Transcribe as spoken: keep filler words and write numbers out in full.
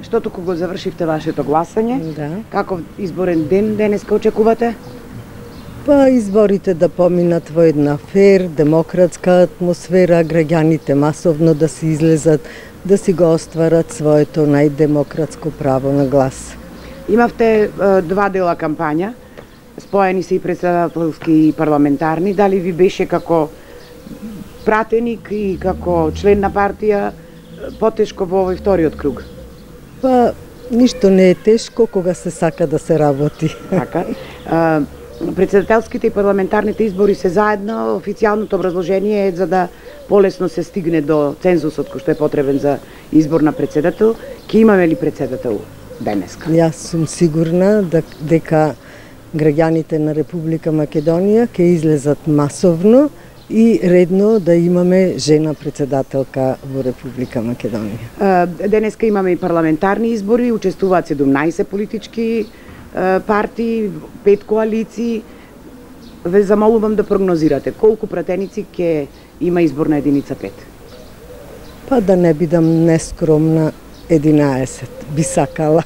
што туку го завршивте вашето гласање. Да. Каков изборен ден денеска очекувате? Па изборите да поминат во една фер, демократска атмосфера, граѓаните масовно да си излезат, да си го остварат своето најдемократско право на глас. Имавте е, два дела кампања, споени се и председателски и парламентарни. Дали ви беше како пратеник и како член на партија потешко во овој вториот круг? Па ништо не е тешко кога се сака да се работи. Така. А, председателските и парламентарните избори се заедно. Официјалното образложение е за да полесно се стигне до цензусот кој што е потребен за избор на председател. Ке имаме ли председател денеска? Јас сум сигурна да, дека граѓаните на Република Македонија ќе излезат масовно и редно да имаме жена председателка во Република Македонија. Денеска имаме и парламентарни избори, учествуваат седумнаесет политички партии, пет коалиции. Ве замолувам да прогнозирате колку пратеници ќе има изборна единица пет. Па да не бидам нескромна, единаесет би сакала.